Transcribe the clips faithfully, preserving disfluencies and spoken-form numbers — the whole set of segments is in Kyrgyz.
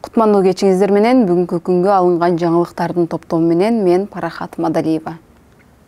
Кутмандуу кечиңиздер менен бүгүнкү күнгө алынган жаңылыктардын топтому менен мен Парахат Мадалиева.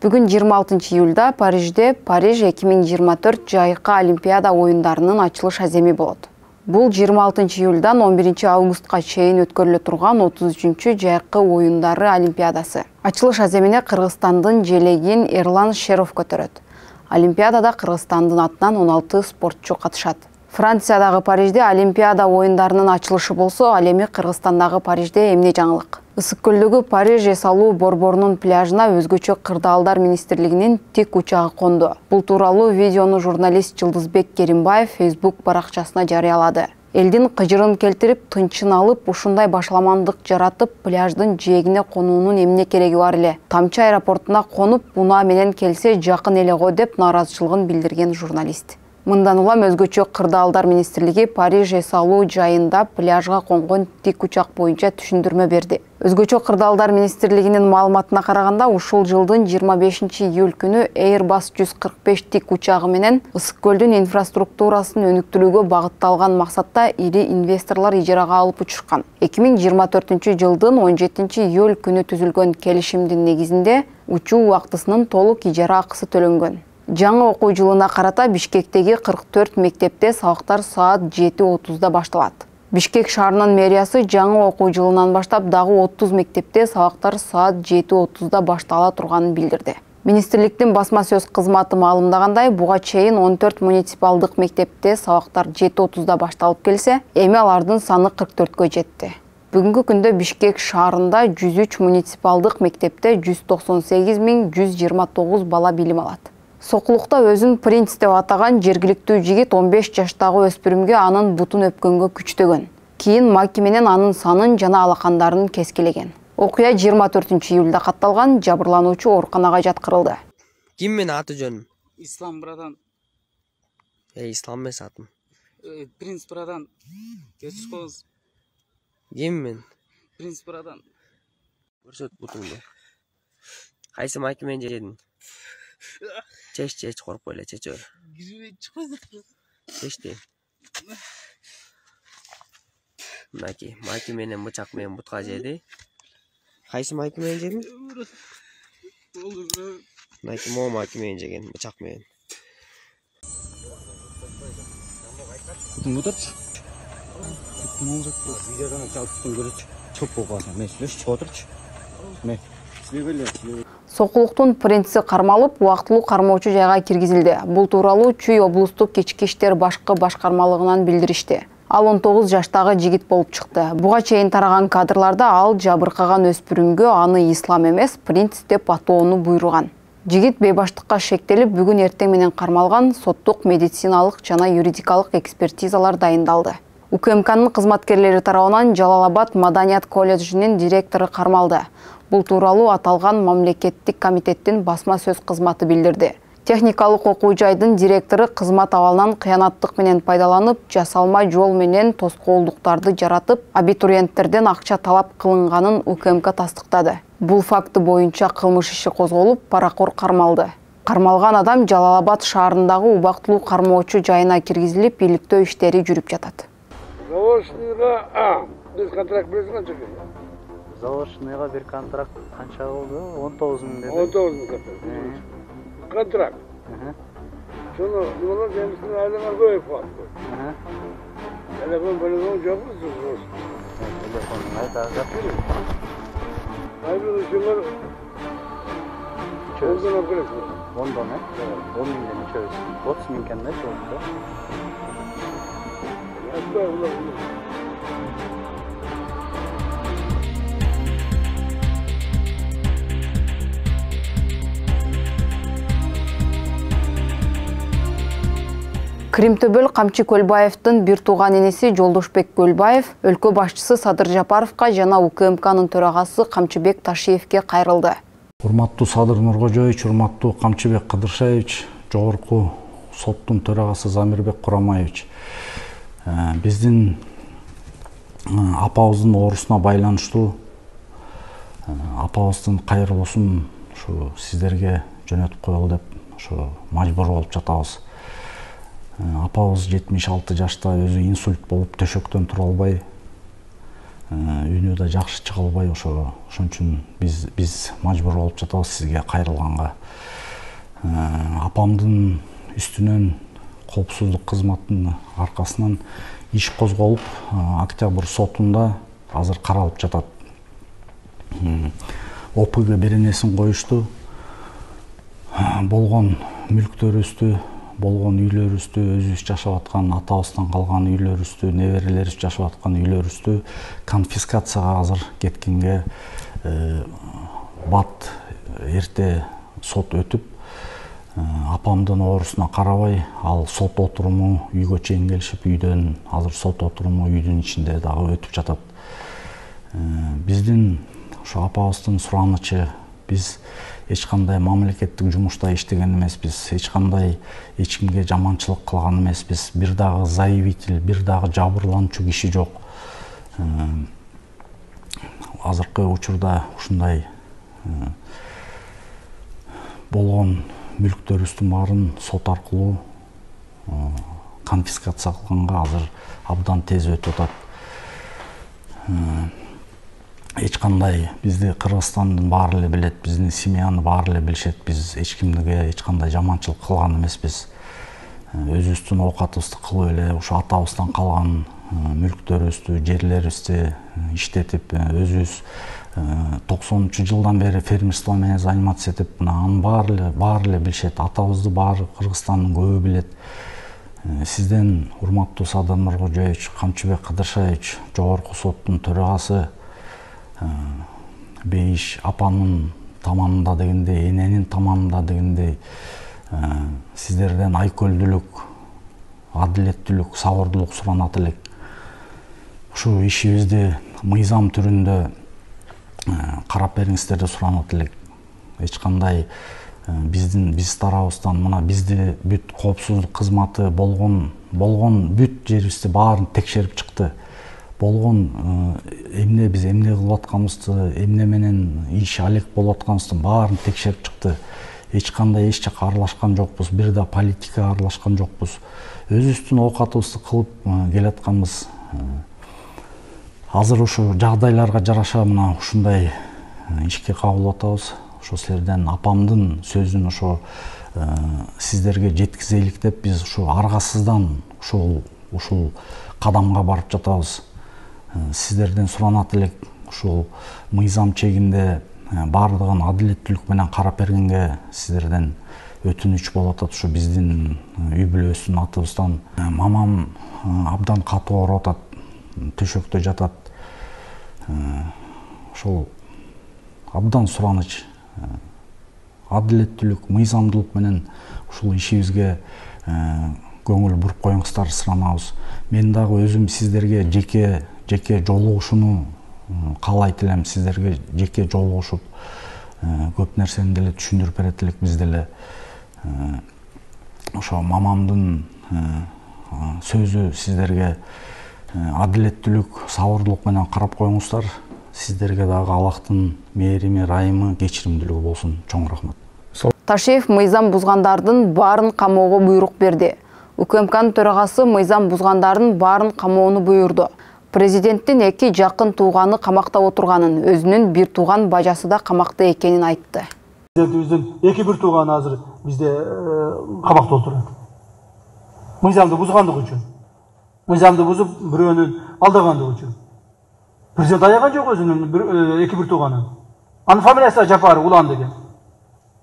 Бүгүн жыйырма алтынчы июлда Парижде Париж эки миң жыйырма төрт жайкы Олимпиада оюндарынын ачылыш аземи болот. Бул жыйырма алтынчы июлдан он биринчи августка чейин өткөрүлө турган отуз үчүнчү жайкы оюндары Олимпиадасы. Ачылыш аземине Кыргызстандын желегин Эрлан Шеров көтөрөт. Олимпиадада Кыргызстандын атынан он алты спортчу катышат. Франциядагы Парижде Олимпиада оюндарынын ачылышы болсо, ал эми Кыргызстандагы Парижде эмне жаңылык? Ысык көлдөгү Париж эс алуу борборунун пляжына өзгөчө кырдаалдар министрлигинин тик учагы конду. Бул тууралуу видеону журналист Жылдызбек Керимбаев Facebook баракчасына жарыялады. Элдин кыжырын келтирип, тынчын алып, ушундай башаламандык жаратып, пляждын жээгине конуунун эмне кереги бар эле? Тамчы аэропортуна конуп, унаа менен келсе жакын эле го деп нааразычылыгын билдирген журналист. Мындан улам өзгөчө кырдаалдар министрлиги Париж эс алуу жайында пляжга конгон тик учак боюнча түшүндүрмө берди. Өзгөчө кырдаалдар министрлигинин маалыматына караганда, ушул жылдын жыйырма бешинчи июль күнү Airbus жүз кырк беш тик учагы менен Ысык көлдүн инфраструктурасын өнүктүрүүгө багытталган максатта ири инвесторлор ижарага алып учушкан. эки миң жыйырма төртүнчү жылдын он жетинчи июль күнү түзүлгөн келишимдин негизинде учуу убактысынын толук ижара акысы төлөнгөн. Жаңы окуу жылына карата Бишкектеги кырк төрт мектепте сабактар саат жети отузда башталат. Бишкек шаарынын мэриясы жаңы окуу жылынан баштап дагы отуз мектепте сабактар саат жети отузда баштала турганын билдирди. Министрликтин басма сөз кызматы маалымдагандай, буга чейин он төрт муниципалдык мектепте сабактар жети отузда башталып келсе, эми алардын саны кырк төрткө жетти. Бүгүнкү күндө Бишкек шаарында жүз үч муниципалдык мектепте жүз токсон сегиз миң жүз жыйырма тогуз бала билим алат. Сокулукта өзүн принц деп атаган жергиликтүү жигит он беш жаштагы өспүрүмгө анын бутун өпкөнгө күчтөгөн. Кийин макименен анын санын жана алакандарын кескилеген. Окуя жыйырма төртүнчү июлда катталган, жабырлануучу ооруканага жаткырылды. Ким менин аты жөнүм? Ислам брадан. Э, Ислам эмес атым. Принц брадан. Кечип коңуз. Ким мен? Принц брадан. Көрсөт бутуңду. Кайсы макименен жедиң? Чеч, чеч, коркпой эле, чечөр. Чечти. Мынаки, маки менен бычак менен бутка жеди. Кайсы маки менен жедиң? Мынаки мо маки менен жеген, бычак менен. Бутун отурчу. Бутун отурчу. Видеодон чалып бутун көрөчү. Чоп болгон, мен сүйлөшүп чыгып отурчу. Мен силебеле, силебеле. Сокулуктун принци кармалып, убактылуу кармоочу жайга киргизилди. Бул тууралуу Чүй облустук кечки иштер башкы башкармалыгынан билдиришти. Ал он тогуз жаштагы жигит болуп чыкты. Буга чейин тараган кадрларда ал жабыркаган өспүрүмгө аны Ислам эмес, принц деп атоону буйруган. Жигит бейбаштыкка шектелип, бүгүн эртең менен кармалган, соттук, медициналык жана юридикалык экспертизалар дайындалды. УКМКнын кызматкерлери тарабынан Жалал-Абад Маданият колледжинин директору кармалды. Бул тууралуу аталган мамлекеттик комитеттин басма сөз кызматы билдирди. Техникалык окуу жайдын директору кызмат абалынан кыянаттык менен пайдаланып, жасалма жол менен тоскоолдуктарды жаратып, абитуриенттерден акча талап кылынганын УКМК тастыктады. Бул факты боюнча кылмыш иши козголуп, паракор кармалды. Кармалган адам Жалал-Абад шаарындагы убактылуу кармоочу жайына киргизилип, иликтөө иштери жүрүп жатат. Заочныйга А, биз контракт бересиң канча? Заочныйга бир контракт канча болду? он тогуз миң деди. он тогуз миң контракт. Шуну nimаlar жемисин айланар көбөйүп калды. Телефон бөлөгөн жокпу сиз? Телефонун айта жак. Айбыл ушулар чөздөн алып ондон, э? он миңден чөз. отуз миң кандай болду? Кримтөбөл Камчы Көлбаевдин бир тууган энеси Жолдошбек Көлбаев өлкө башчысы Садыр Жапаровго жана УКМКнын төрагасы Камчыбек Ташиевге кайрылды. Урматтуу Садыр Нуркожоевич, урматтуу Камчыбек Кыдыршаевич, жогорку соттун төрагасы Замирбек Курамаевич. Биздин апабыздын оорусуна байланыштуу апабыздын кайрылуусун ушу сиздерге жөнөтүп коелу деп ушу мажбур болуп жатабыз. Апабыз жетимиш алты жашта өзү инсульт болуп төшөктөн тура албай да жакшы чыга албай ошо ошон үчүн биз биз мажбур болуп жатабыз сизге кайрылганга. Апамдын үстүнөн коопсуздук кызматынын аркасынан иш козголуп, октябрь сотунда азыр каралып жатат. О П Г беренесин коюшту. Болгон мүлктөрүбүздү, болгон үйлөрүбүздү, өзүбүз жашап аткан атабыздан калган үйлөрүбүздү, неберелерибиз жашап аткан үйлөрүбүздү конфискацияга азыр кеткенге бат эрте сот өтүп, апамдын оорусуна карабай, ал сот отуруму үйгө чейин келишип, үйдөн азыр сот отуруму үйдүн ичинде дагы өтүп жатат. Биздин ошо апабыздын суранычы, биз эч кандай мамлекеттик жумушта иштеген эмеспиз, эч кандай эч кимге жаманчылык кылган эмеспиз, бир дагы заявитель, бир дагы жабырлануучу киши жок. Азыркы учурда ушундай болгон мүлктөрүбүздүн баарын сот аркылуу конфискация кылганга азыр абдан тез өтүп атат. Эч кандай бизди Кыргызстандын баары эле билет, биздин семьяны баары эле билишет, биз эч кимге эч кандай жаманчылык кылган эмеспиз. Өзүбүздүн оокатыбызды кылып эле ушу атабыздан калган мүлктөрүбүздү, жерлерибизди иштетип, өзүбүз токсонунчу жылдан бери фермерство менен заниматься этип, анын баары эле баары эле билишет, атабызды баары Кыргызстандын көбү билет. Сизден, урматтуу Садыр Нуркожоевич, Камчыбек Кыдыршаевич, жогорку соттун төрагасы, бейиш апанын таманында дегендей, эненин таманында дегендей, сиздерден айкөлдүүлүк, адилеттүүлүк, сабырдуулук суранат элек. Ушу ишибизди мыйзам түрүндө карап бериңиздер деп суранат элек. Эч кандай биздин биз тарабыбыздан мына бизди бүт коопсуздук кызматы болгон болгон бүт жерибизди баарын текшерип чыкты. Болгон эмне биз эмне кылып атканыбызды, эмне менен иш алек болуп атканыбыздын баарын текшерип чыкты. Эч кандай эч жакка аралашкан жокпуз, бир да политикага аралашкан жокпуз. Өзүбүздүн оокатыбызды кылып келатканбыз. Азыр ушу жагдайларга жараша мына ушундай ишке кабыл атабыз. Ошо силерден апамдын сөзүн ошо сиздерге жеткизелик деп биз ушу аргасыздан ушул ушул кадамга барып жатабыз. Сиздерден суранат элек ушул мыйзам чегинде баардыгын адилеттүүлүк менен карап бергенге сиздерден өтүнүч болуп атат. Ушу биздин үй бүлөбүздүн атыбыздан мамам абдан катуу ооруп атат, төшөктө жатат. Ошол абдан сураныч, адилеттүүлүк, мыйзамдуулук менен ушул ишибизге көңүл буруп коюңуздар суранабыз. Мен дагы өзүм сиздерге жеке жеке жолугушууну каалайт элем. Сиздерге жеке жолугушуп көп нерсени деле түшүндүрүп берет элек биз деле. Ошо мамамдын сөзү сиздерге адилеттүүлүк, сабырдуулук менен карап коюңуздар. Сиздерге дагы Аллахтын мээрими, райымы, кечиримдүүлүгү болсун. Чоң рахмат. Ташиев мыйзам бузгандардын баарын камоого буйрук берди. У К М К'нын төрагасы мыйзам бузгандардын баарын камоону буйрду. Президенттин эки жакын тууганы камакта отурганын, өзүнүн бир тууган бажасы да камакта экенин айтты. Президентибиздин эки бир тууганы азыр бизде камакта отурат. Мыйзамды бузгандык үчүн. Мыйзамды бузуп, бирөөнүн алдагандык үчүн. Президент аяган жок өзүнүн эки бир тууганын. Анын фамилиясы Жапаров Улан деген.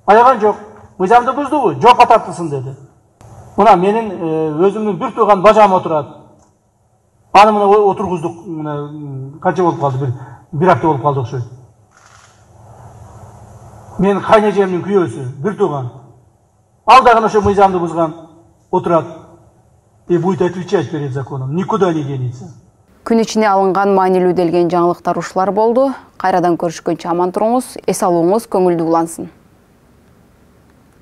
Аяган жок. Мыйзамды буздубу? Жоопко тартылсын деди. Мына менин өзүмдүн бир тууган бажам отурат. Аны мына отургуздук, канча болуп калды, бир бир апта болуп калды окшойт. Менин кайнежемдин күйөөсү, бир тууган. Ал дагы ошо мыйзамды бузган, отурат. И будет отвечать перед законом. Никуда не денется. Күн ичине алынган маанилүү делген жаңылыктар ушулар болду. Кайрадан көрүшкөнчө аман туруңуз, эс алууңуз көңүлдүү улансын.